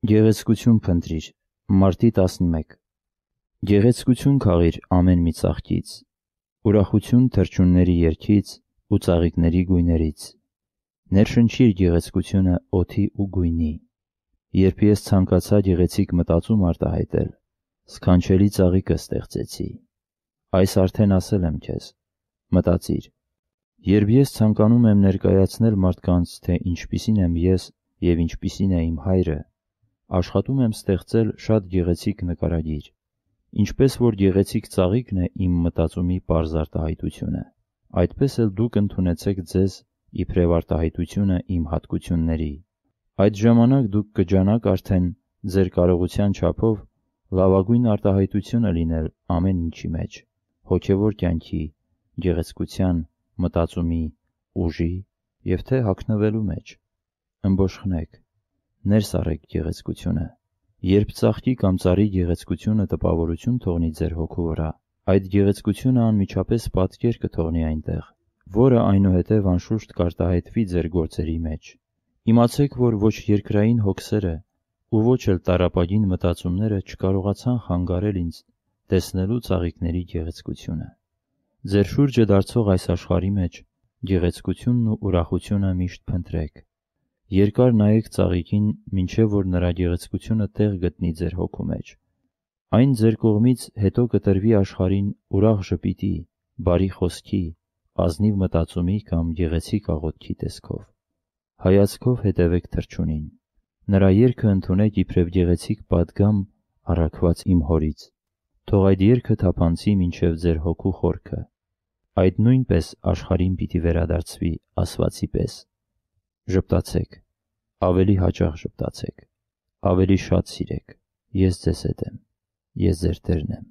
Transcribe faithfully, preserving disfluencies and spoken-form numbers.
Գեղեցկություն փնտրիր, Մարտի տասնմեկ Գեղեցկություն քաղիր ամեն մի ծաղկից, ուրախություն թռչունների երգից ու ծաղիկների գույներից, ներշնչիր գեղեցկությունը օդի ու գույնի, երբ ես ցանկացա գեղեցիկ մտածում արտահայտել, սքանչելի ծաղիկը ստեղծեցի, այս արդեն ասել եմ քեզ, մտածիր, երբ ես ցանկանում եմ ներկայացնել մարդկանց, թե ինչպիսին եմ ես և ինչպիսին է իմ հայրը, աշխատում եմ ստեղծել շատ գեղեցիկ նկարագիր, ինչպես որ գեղեցիկ ծաղիկն է իմ մտածումի պարզ արտահայտությունը, այդպես էլ դուք ընդունեցեք ձեզ իբրև արտահայտությունը իմ հատկությունների, այդ ժամանակ դուք կջանաք արդեն ձեր կարողության չափով լավագույն արտահայտությունը լինել ամեն ինչի մեջ, հոգևոր կյանքի, գեղեցկության, մտածումի, ուժի և թե հագնվելու մեջ, ըմբոշխնեք, ներս առեք գեղեցկությունը, երբ ծաղկի կամ ծառի գեղեցկությունը տպավորություն թողնի ձեր հոգու վրա, այդ գեղեցկությունը անմիջապես պատկեր կթողնի այնտեղ, որը այնուհետև անշուշտ կարտահայտվի ձեր գործերի մեջ, իմացեք, որ ոչ երկրային հոգսերը ու ոչ էլ տառապագին մտածումները չկարողացան խանգարել ինձ տեսնելու ծաղիկների գեղեցկությունը, ձեր շուրջը դարձող այս աշխարհի մեջ գեղեցկությունն ու ուրախությունը միշտ փնտրեք, երկար նայեք ծաղիկին, մինչև որ նրա գեղեցկությունը տեղ գտնի ձեր հոգու մեջ, այն ձեր կողմից հետո կտրվի աշխարհին ուրախ ժպիտի, բարի խոսքի, ազնիվ մտածումի կամ գեղեցիկ աղոթքի տեսքով, հայացքով հետևեք թռչունին, նրա երգը ընդունեք իբրև գեղեցիկ պատգամ առաքված իմ հորից, թող այդ երգը թափանցի մինչև ձեր հոգու խորքը, այդ նույնպես աշխարհին պիտի վերադարձվի ասվածի պես, ժպտացեք, ավելի հաճախ ժպտացեք, ավելի շատ սիրեք, ես ձեզ հետ եմ, ես ձեր Տերն եմ։